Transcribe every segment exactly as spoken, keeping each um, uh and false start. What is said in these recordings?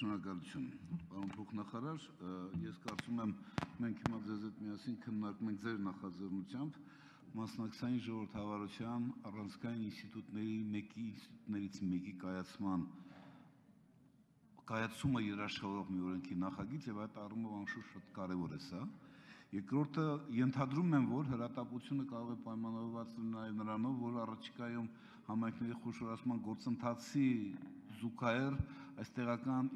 Շնորհակալություն, պարոն փոխնախարար, ես կարծում եմ մենք հիմա ձեզ հետ միասին քննարկում ենք ձեր նախաձեռնությամբ մասնակցային ժողովրդավարության առանցքային ինստիտուտների մեկի ինստիտուտներից մեկի կայացման կայացումը երաշխավորող մի օրենքի նախագիծ եւ այդ առումով անշուշտ շատ կարեւոր է սա։ Երկրորդը ենթադրում եմ, որ հրատապությունը կարող է պայմանավորված լինել նրանով, որ առաջիկայում համայնքների խոշորացման գործընթացի զուգահեռ այս տեղական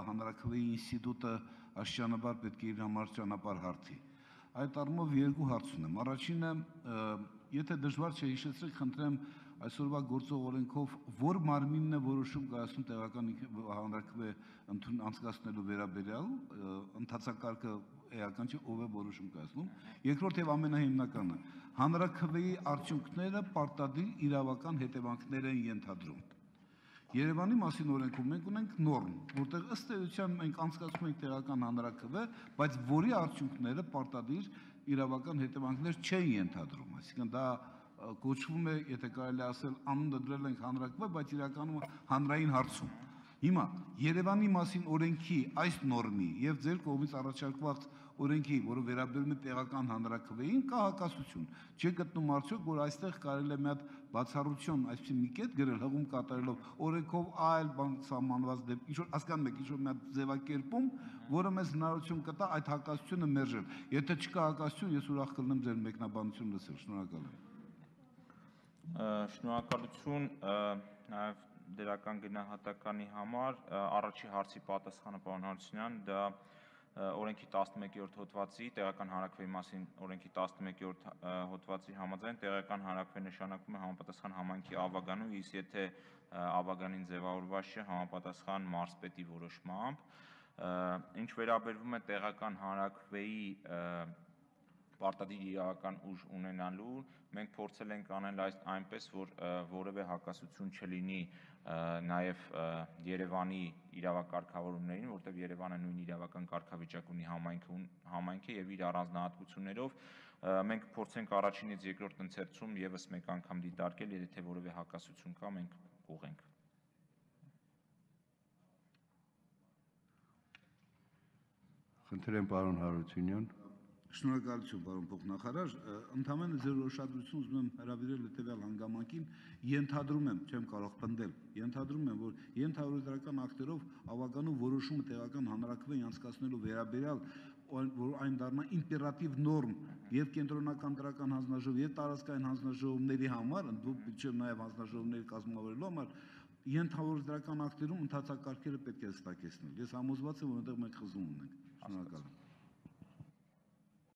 հանրաքվեի ինստիտուտը աստիճանաբար պետք է իր համար ճանապարհ հարթի։ Այդ առումով երկու հարց ունեմ։ Առաջինը, եթե դժվար չէ հիշեցրեք, խնդրեմ այսօրվա գործող օրենքով որ մարմինն է որոշում կայացնում տեղական հանրաքվե անցկացնելու վերաբերյալ, ընթացակարգը էական չէ, ով է որոշում կայացնում։ Երկրորդ եւ ամենահիմնականը, հանրաքվեի արդյունքները պարտադիր իրավական հետևանքներ են ենթադրում։ Երևանի մասին օրենքում մենք ունենք նորմ, որտեղ ըստ էության մենք անցկացնում ենք տեղական հանրաքվե, բայց որի արդյունքները պարտադիր իրավական հետևանքներ չեն ենթադրում, այսինքն դա կոչվում է, եթե կարելի ասել, անունը դրել ենք հանրաքվե, բայց իրականում հանրային հարցում։ Հիմա Երևանի մասին օրենքի այս նորմի եւ ձեր կողմից առաջարկված օրենքի, որը վերաբերում է տեղական հանրաքվեին, կա հակասություն։ Չի գտնում արդյոք, որ այստեղ կարելի է մի հատ բացառություն, այսպես մի կետ գրել հղում կատարելով օրենքով այլ բան սահմանված դեպք, ինչ որ հասկանում եք, ինչ որ մի հատ ձևակերպում, որը մեզ հնարավորություն կտա այդ հակասությունը մերժել։ Եթե չկա հակասություն, ես ուրախ կլինեմ ձեր մեկնաբանությունը լսել։ Շնորհակալ եմ։ Շնորհակալություն նաև դրական գնահատականի համար, առաջի հարցի պատասխանը պարոն Հարությունյան, դա օրենքի տասնմեկերորդ հոդվածի, տեղական հանրաքվեի մասին օրենքի տասնմեկերորդ հոդվածի համաձայն տեղական հանրաքվե նշանակում է համապատասխան համայնքի ավագանու, իսկ եթե ավագանին ձևավորված չէ համապատասխան մարզպետի որոշմամբ, ինչ վերաբերվում է տեղական հանրաքվեի պարտադիր իրավական ուժ ունենալու, մենք փորձել ենք անել այնպես, որ որևէ հակասություն չլինի նաև Երևանի իրավակարգավորումներին, որտեղ Երևանը նույն իրավական կարգավիճակ ունի համայնքը եւ իր առանձնահատկություններով, մենք փորձենք առաջինից երկրորդ ընթերցում եւս մեկ անգամ դիտարկել, եթե որևէ հակասություն կա, մենք կուղենք։ Խնդրեմ պարոն Հարությունյան։ Շնորհակալություն, պարոն փոխնախարար, ընդհանրապես ձեր ուշադրությունն ուզում եմ հրավիրել հետևյալ հանգամանքին, ենթադրում եմ, չեմ կարող պնդել, ենթադրում եմ, որ ենթահորիզոնական ակտերով ավագանու որոշումը տեղական հանրաքվեի անցկացնելու վերաբերյալ, որ այն դառնա իմպերատիվ նորմ եւ կենտրոնական դրական հանձնաժողով եւ տարածքային հանձնաժողովների համար, ընդդեմ նաեւ հանձնաժողովների կազմավորելու համար, ենթահորիզոնական ակտերում ընդհանրակարգերը պետք է հստակեցնել։ Ես համոզված եմ, որ այնտեղ մենք խզում ունենք։ Շնորհակալ եմ։